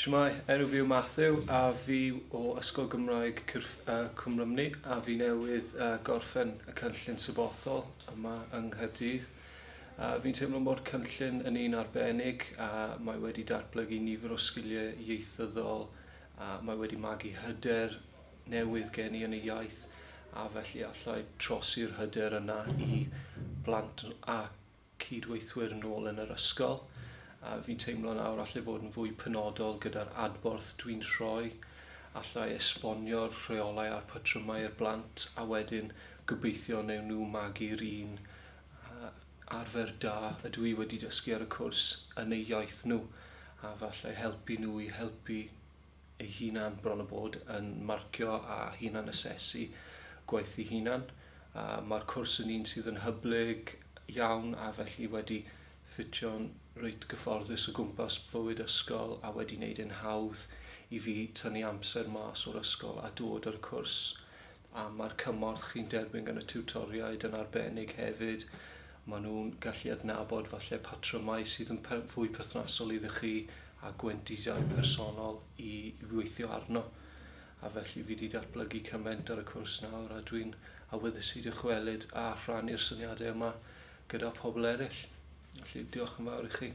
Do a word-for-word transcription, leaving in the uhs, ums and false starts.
Shwmae, enw fi yw Matthew a fi o Ysgol Gymraeg Cyrff, uh, Cwm Rhymni a fi newydd uh, gorffen y cynllun sabothol yma yng Nghaerdydd. Uh, fi'n teimlo bod cynllun yn un arbennig a mae wedi datblygu nifer o sgiliau ieithyddol a mae wedi magu hyder newydd gen i yn y iaith a felly allai trosi'r hyder yna i blant a cydweithwyr yn ôl yn yr ysgol. A fi'n teimlo nawr allai fod yn fwy penodol gyda'r adborth dwi'n rhoi, allai esbonio'r rheolau a'r patrymau i'r blant a wedyn gobeithio wnewn nhw magu'r un uh, arfer da ydw i wedi dysgu ar y cwrs yn eu iaith nhw a falle helpu nhw i helpu eu hunan bron o bod yn marcio a hunan asesu gwaith eu hunan. Uh, Mae'r cwrs yn un sydd yn hyblyg iawn a felly wedi ffitio'n reit gyfforddus o gwmpas bywyd ysgol a wedi wneud yn hawdd i fi tynnu amser mas o'r ysgol a dod ar y cwrs. A mae'r cymorth chi'n derbyn gan y tiwtoriaid yn arbennig hefyd. Maen nhw'n gallu adnabod falle patrymau sydd yn per fwy perthnasol iddo chi a gwendidau personol i, i weithio arno. A felly fi wedi datblygu cymaint ar y cwrs nawr a dwi'n awyddus i dychwelyd a rhannu'r syniadau yma gyda pobl eraill. Felly diolch yn fawr i chi.